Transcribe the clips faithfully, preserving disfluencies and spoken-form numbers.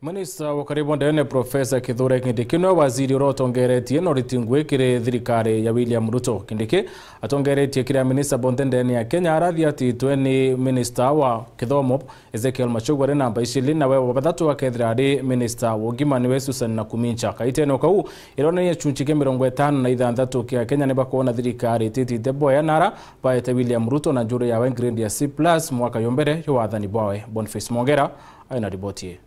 Minista wa ukari bwa ndene Profesa Kithure Kindiki niwe waziri uria utongeretie na uriti ngui kiri thirikari ya William Ruto. Kindiki atongeretie kiri aminista bonthe ndene ya Kenya aria athiatitwe ni minista wa kithomo Ezekiel Machogu ari namba icili, nawe wa bathatu akethira ari minista wa ugima niwe Susan Nakhumicha. Kaitene o kau ironania gicunci kia mirongo itano na ithanthatu kia Kenya nibakwona thirikari ititite boya nara baete William Ruto na njuri yawe grade ya C plus mwaka yo mbere ya wathani bwawe. Boniface Mwongera aina riboti ii.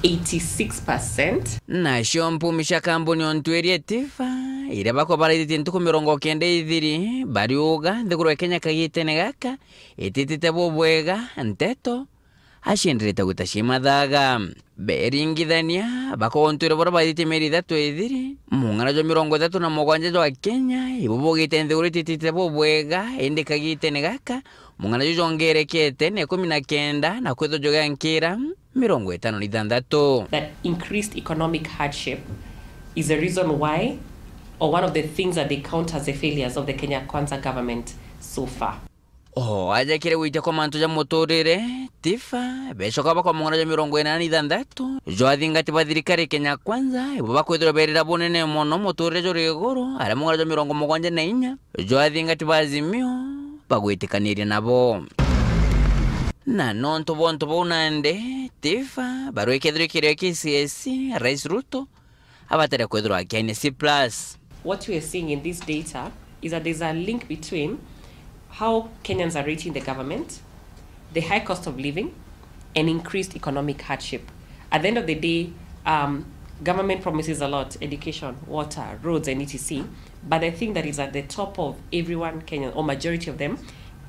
Eighty-six percent. Nacio mpumi cia kambuni o ntwiri Tifa, iria bakwa baraithitie ntuku mirongo kenda ithiri, bariuga nthiguru ya Kenya kagitene gaka ititite bubwega, nteto acienderete gwita ciimathaga. Beringithania, bakontwire baria baithitie mieri ithatu ithiri, mung'ana jwa mirongo ithatu na mugwanja jwa Kenya ibo bugite nthiguru ititite bubwega, indi kagitene gaka mung'ana ju jongerekete na ikumi na kenda na kwithwa jugiankira mirongo itano na ithanthatu. That increased economic hardship is the reason why, or one of the things that they count as the failures of the Kenya Kwanza government so far. O aja kiri gwitia kwa mantu ja muturire, Tifa becoka bakwa mung'ana jwa mirongo inana na ithanthatu jwa athingati ba thirikari Kenya Kwanza ibo bakwithirwa berira bunene mono muturire juri iguru, aria mung'ana jwa mirongo mugwanja na inya jwa athingati ba Azimio bagwitikaniria nabo. Na nontu bwa untu buu nandi, Tifa barwikethirwa kirio kia K C S E, Rais Ruto abatare kwithirwa akiainia C plus. What we are seeing in this data is that there's a link between how Kenyans are rating the government, the high cost of living, and increased economic hardship. At the end of the day, um, government promises a lot: education, water, roads, and et cetera. But the thing that is at the top of everyone Kenyan, or majority of them,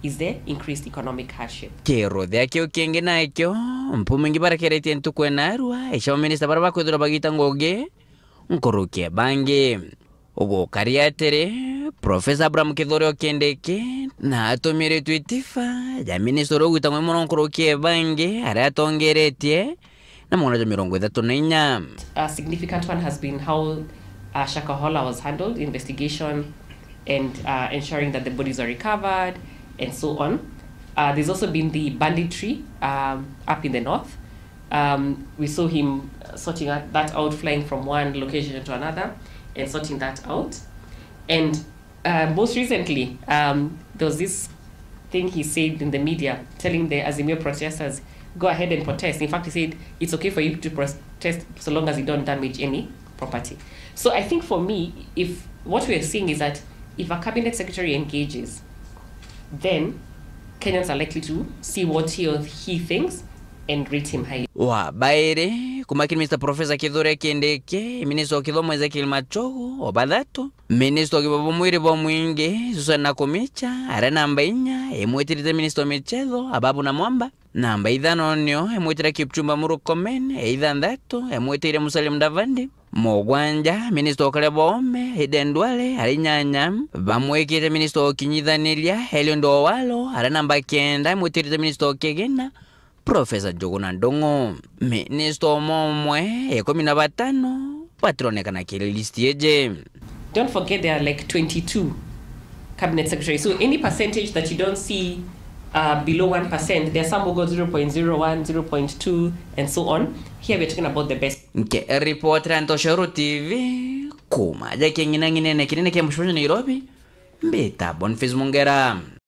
is the increased economic hardship. Kiruthia kiu kingi nakio, mpumi ingi barakeretie ntuku ya narua, icio minista baria bakwithirwa bagita ngugi nkuruki ya bangi. Ugukari atiri, Profesa Abraham Kithure o Kindiki na atumiritwe Tifa ja minista uria ugwita ngugi mono nkuruki ya bangi, aria atongeretie na mug'ana jwa mirongo ithatu na inya. A significant one has been how, uh, Shakahola was handled, investigation and, uh, ensuring that the bodies are recovered and so on. Uh, there's also been the banditry, um, up in the north. Um, we saw him, uh, sorting out, that out, flying from one location to another and sorting that out. And, uh, most recently, um, there was this thing he said in the media telling the Azimio protesters, "Go ahead and protest." In fact, he said, "It's okay for you to protest so long as you don't damage any property." So I think for me, if what we're seeing is that if a cabinet secretary engages, then Kenyans are likely to see what he or he thinks and rate him highly. Wa bairi, kuma kiri Mister Professor Kithure Kindiki, Minister wa Kithomo Ezekiel Machogu, wa bathatu, Minister wa Ugima bwa Mwiri bwa Mwingi, Susan Nakhumicha, aria namba inya, imwitirite Minister wa Michetho, Ababu Namwamba, namba ithano nio imwitire Kipchumba Murkomen, ya ithanthatu, imwitire Musalia Mudavadi, mugwanja, Minister wa Ukaria bwa Oome, Aden Duale, aria inyanya, bamwikite Minister wa Ukinyithaniria, Eliud Owalo, aria namba kenda, imwitirite Minister wa Kigina, Professor Njuguna Ndung'u. Minister umwe umwe, ikumi na batano, batironekana kiri list iji. Don't forget there are, like, twenty-two cabinet secretaries. So any percentage that you don't see, uh, below one percent, there are some who go zero point zero one, zero point two, and so on. Here we're talking about the best. Nke report ya Ntoshoro T V, kuma ja king'inang'inene kinene kia mucemanio Nairobi, mbita Boniface Mungera.